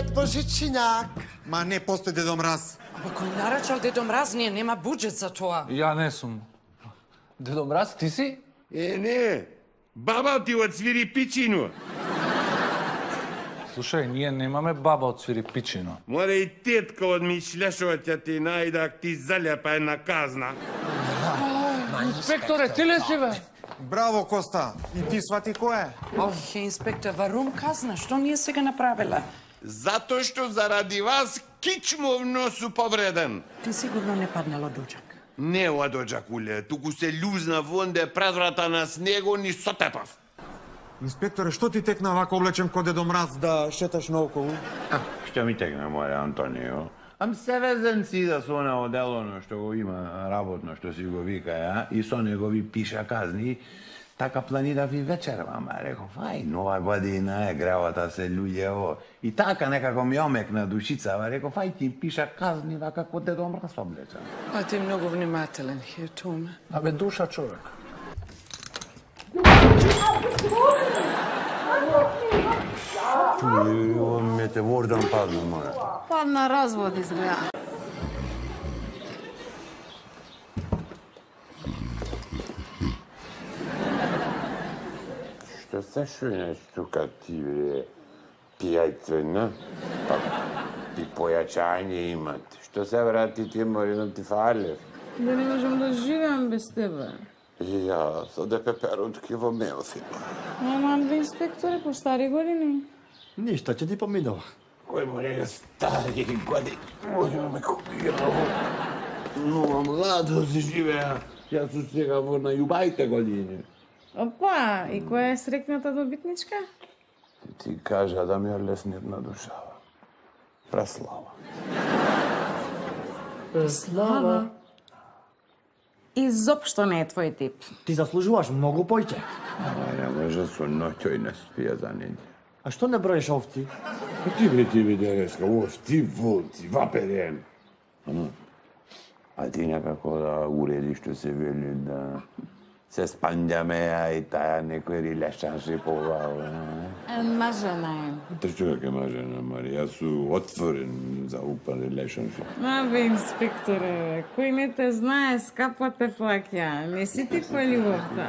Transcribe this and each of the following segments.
Дед Божичињак. Ма не постои Дедо Мраз. Ама кој нарачал Дедо Мраз, ние нема буџет за тоа. Ја не сум. Дедо Мраз, ти си? Не. Баба ти од Свирипичино. Слушај, ние немаме баба од Свирипичино. Мора и тетка од Мишлешова ќе ти најдак ти залепа една казна. Инспекторе, ти ли си, бе? Браво, Коста. И ти свати кој е? Ох, инспектор, варум казна, што ние сега направила? Затоа што заради вас кичмовно су повреден. Ти сигурно не паднал од оџак. Не од оџакуле, туку се љузна вонде предврата на снего ни сотепав. Инспекторе, што ти текна вака облечен ко Дедо Мраз да шеташ наоколу? Што ми текна, море Антонио? Ам се везен си да со она оделоно што го има работно, што си го вика, ја, и со него ви пиша казни, така планирав и вечер, мама, реков, ај, нова година е, гревата се луѓево. И така некако ми омекна душицава, реков, ај ти пиша казни вака ко Дедо Мраз облечен. А ти многу внимателен, Хиртуме. Абе, душа човек. Ово метевордан падна, море. Падна развод изгледа. Што се шујнеш тука ти, бре, пијајцена? Па, и појачање имат. Што се врати ти морino ти фалев? Да не можам да живеам без тебе. И ја, со да пеперутки во мелфи. Ама, инспекторе, по стари години. Ништо ќе ти поминува. Кој море стари години? Може ме копираво. Но младо се живеа. Јас сум сега во најубајте години. Опа, и која е срекната добитничка? Ти кажа да ми олеснет на душава. Преслава. Слава. Изопшто не е твој тип. Ти заслужуваш многу појќе. Ама не може со ноќој не спија за неделја. А што не броиш овци? Ти бе денеска, овци, волци, ваперен. А ти некако да уредиш што се вели да се спандјаме, а и таа некој рилешанши по глава. Мажена е. Те човек е мажена, Марија, су отворен за упан рилешанши. Абе, инспекторе, кој не те знае, скапо те плаќа. Не си ти по љубовта.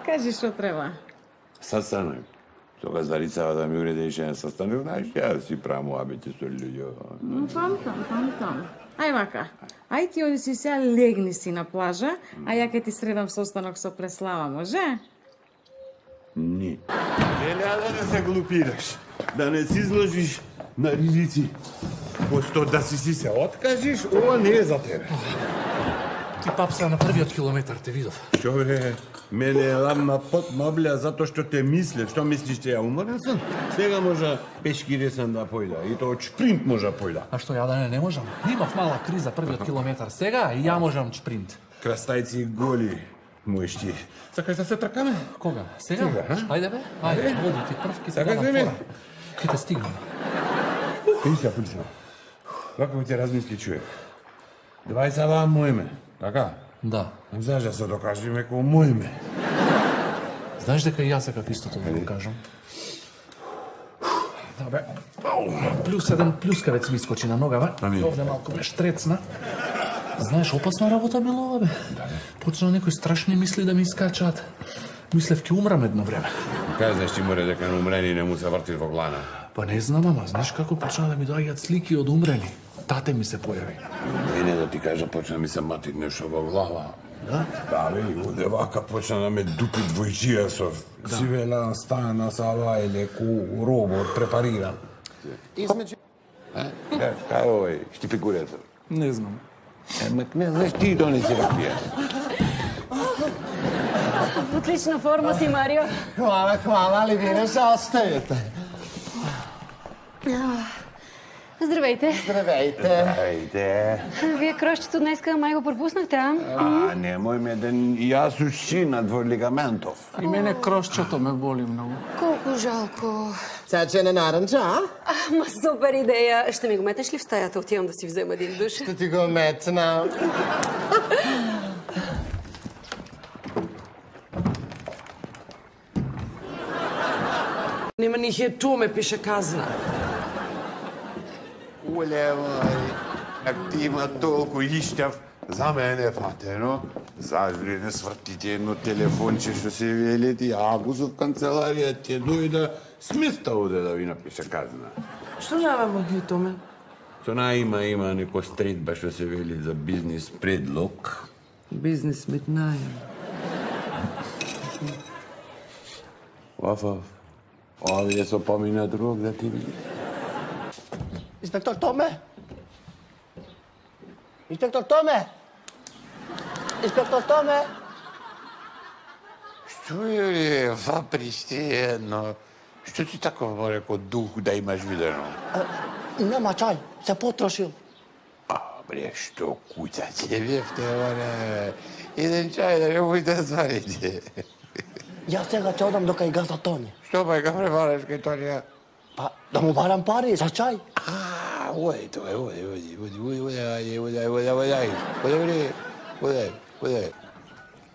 Кажи што треба. Састанок. Тога Зарицава да ми уредиш еден састанок, знаеш, ја си правам уабите со луѓе. Памтам. Ај вака, ај ти оди си сега легни си на плажа, а ја ке ти средам состанок со Преслава, може? Не. Да не се глупираш, да не си изложиш на ризици. Посто да си се откажиш, ова не е за тебе. Ти папса на првиот километар, те видов. Што бе, мене е ламна пот мобля затоа што те мислев. Што мислиш, че ја уморен сам? Сега може пешки ресен да појда, и тоа шпринт може појда. А што, ја да не можам? Имав мала криза првиот километар. Сега и ја можам шпринт. Крастајци голи, мојш ти. Сакаш да се тркаме? Кога? Сега? Ајде бе, ајде, оди ти прв, ки те Сакаш дадам ли, бе? фора. Ки те стигнам. Писа. Вака ми те размисли човек. 20 вам мојме, така? Да. Знаеш да се докажеме кој мојме. Знаеш дека и јас сакав истото да го кажам? Да бе, плюс еден плюскавец ми искочи на нога, бе. Ами. Овде малку ме штрецна. Знаеш, опасна работа било ова, бе. Почна некои страшни мисли да ми искачаат. Мислев ке умрам едно време. Кажеш ти море дека на умрени не му се врти во глана. Па не знам, ама знаеш како почна да ми доаѓаат слики од умрели. Тате ми се појави. И не да ти кажа, почна ми се мати нешто во глава. Да? Да, бе, и оде вака почна да ме дупи двојчија со сивела стана сава или ку робот препариран. Измеѓу Како е, штипикурето? Не знам. Не знаеш, ти донеси да пиеш. В отлична форма си, Марио. Хвала, ли вие се остаете? Здравейте. Здравейте. Ајде. Вие крошчето днеска май го пропуснахте, а? Немој ме ден, јас ушинат во лигаментов. И мене крошчето ме боли многу. Колко жалко. Цечене наранча, а? Ма супер идея. Ще ми го метеш ли в стаята? Отивам да си взема един душ. Ще ти го метна. Нема ни Хиртуме пише казна. Как ти има толку ищав, за мене фатено, зажри не свртите едно телефонче што се велети, ако со в канцеларија ќе дојда, смиста оде да ви напише казна. Што нямamo ги томе? Со има неко стритба што се вели за бизнис предлог. Бизнес мет најам. Оф. Овие со помина друг да ти види. Инспектор Томе? Инспектор Томе? Инспектор Томе? Што е, вапришти едно? Што ти тако реко дух да имаш видено? Нема чај, се потрошил. Бре, што куќа ќе бевте, оре? Еден чај да не моите зварите. Јас сега ќе одам до кај газа Тони. Што па га пребараш кај Тонија? Па, да му барам пари за чај. Оди.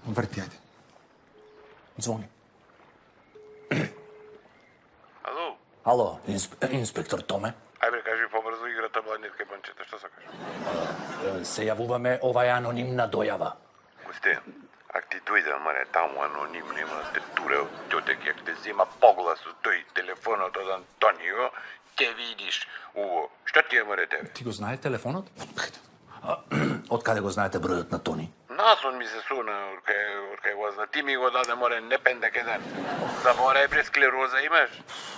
Врти, ајде. Звони. Ало? Ало, инспектор Томе. Ај бре, кажи побрзо играта Бланетка и Панчета, што сакаш? Се јавуваме оваа анонимна дојава. Госте, ако ти дојде, маре, таму аноним, нема да те туре од тотек, ако те зема поглас од тој телефонот од Антонио, ќе видиш уво. Што ти е, маре, тебе? Ти го знае телефонот? Од каде го знаете бројот на Тони? Насон ми се суна, од кај го зна. Ти ми го даде, море, не пендек еден. Заборај, бре, склероза имаш?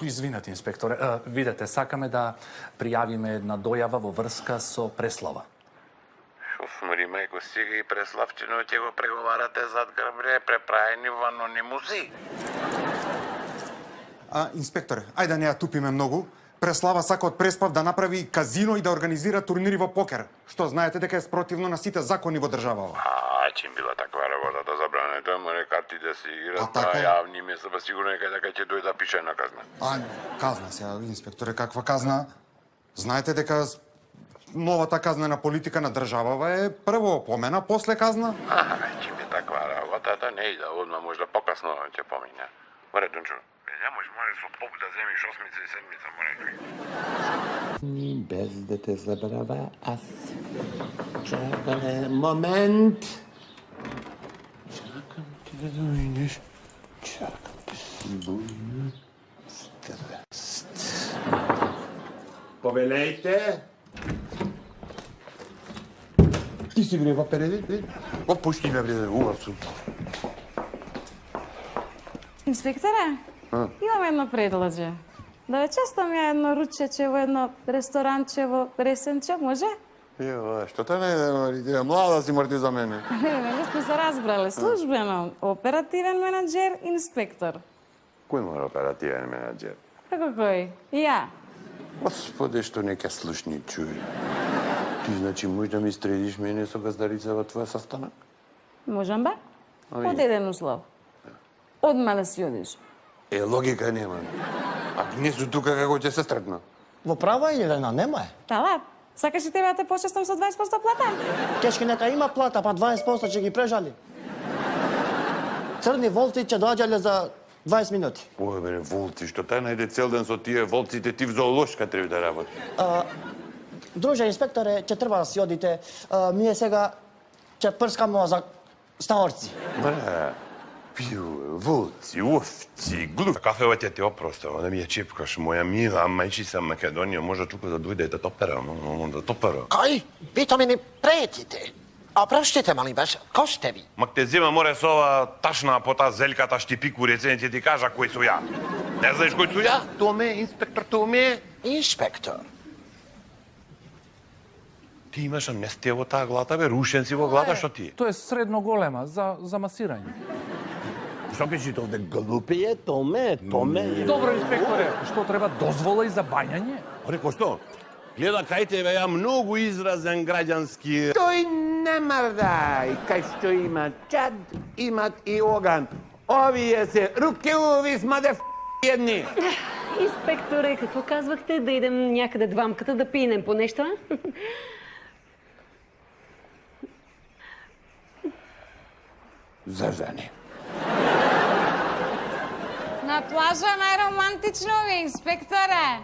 Извинете, инспекторе. Видете, сакаме да пријавиме една дојава во врска со Преслава. Шоф, мари, мајко, сега и Преславчино ќе го преговарате зад грб, бре, преправени во анонимуси. Инспекторе, ајде да не ја тупиме многу. Преслава сака од Преспав да направи казино и да организира турнири во покер. Што знаете дека е спротивно на сите закони во државава. Чим била таква работата забранета, маре, картите се играт, така? јавни места, па сигурно е дека ќе дојде да пише на казна. Казна сега, инспекторе, каква казна? Знаете дека новата казнена политика на државава е прво опомена, после казна? Чим е таква работата, не иде, одма можда покасно ќе помине. Море, Дунчо, немош, море, со поп да земиш осмица и седмица, море. Без да те забрава, аз чакаме момент. Чакам ти да дојдеш. Чакам ти си бујна страст. Повелејте. Ти си бре во переди? Опушти ме бре, увасу. Инспекторе, имам едно предложие. Да ве честам ја едно ручече во едно ресторанче во Ресенче, може? Што те не е млада си мрти за мене. Не сме се разбрале. Службено, оперативен менаџер, инспектор. Кој мора оперативен менаџер? Како кој? Ја. Господи, што нека слушни чуј. Ти значи можеш да ми стредиш мене со газдарица во твоја састанок? Можам бе? Од еден услов. Одма да си одиш. Логика нема. А не су тука како ќе се стрепна. Во права или Елена, нема е. Тала, сакаш и тебе да те почестам со 20% плата? Кешки нека има плата, па 20% ќе ги прежали. Црни волци ќе доаѓале за 20 минути. Ој, бе, волци, што тај најде цел ден со тие волците, ти в зоолошка треба да работи. Друже, инспекторе, ќе треба да си одите. Ние сега ќе прскамо за стаорци. Бре, пиу, волци, овци, глуп. Кафева ќе ти опростава, да ми ја чепкаш, моја мила мајчица Македонија, може тука да дојде да топера, да топера. Кој? Пито ми не претите. Опроштите, мали баш, кој сте ви? Мак те зема море со ова ташна пота зельката штипику рецен, ќе ти кажа кој су ја. Не знаеш кој су ја? Томе, инспектор Томе. Инспектор. Ти имаш амнестија во таа глата, бе, рушен си во глата, што ти? Тоа е средно голема за масирање. Што пишите овде? Глупи е, Томе. Добро, инспекторе, што треба дозвола и за бањање? Реко што? Гледа кај тебе ја многу изразен граѓански. Тој не мрдај, кај што има чад, имат и оган. Овие се рукеуви смаде едни. Инспекторе, какво казвахте? Да идем някъде двамката да пинем по нещо? За жени. На плажа најромантично ви, инспекторе.